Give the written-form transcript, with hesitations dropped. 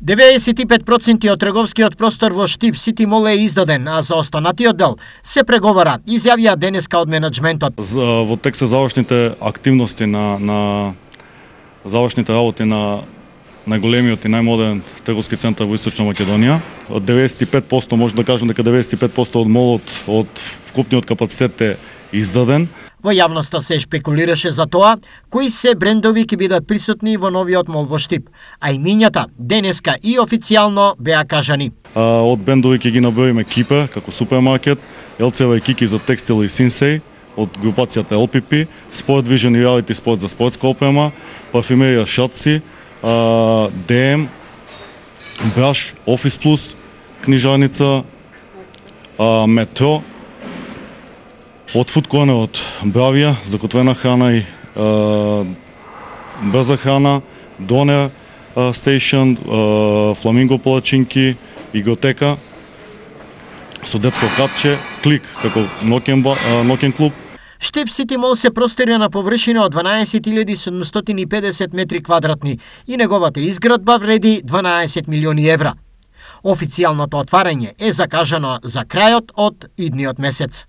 95% од трговскиот простор во Штип Сити Мол е издаден, а за останатиот дел се преговара, изјавија денеска од менаџментот. Во тек се завршните активности на завршните работи на најголемиот и најмодерен трговски центар во Источна Македонија. Од 95% може да кажам дека 95% од молот од вкупниот капацитет е издаден. Во јавноста се шпекулираше за тоа кои се брендови ќе бидат присутни во новиот мол во Штип, а имињата денеска и официјално беа кажани. Од брендови ќе ги наброиме Кипер како супермаркет, LCV и Кики за текстил и Синсей од групацијата LPP, Sport Vision и Reality Sport за спортска опрема, парфюмерија Шатси, DM, Браш, Office Plus, книжарница, Метро, од Food Corner од Бравија, за готвена храна и брза храна, Донер Station, Фламинго палачинки, игротека, со детско капче, Клик како ноќен клуб. Штип Сити Мол се простира на површина од 12.750 метри квадратни и неговата изградба вреди 12 милиони евра. Официјалното отварање е закажано за крајот од идниот месец.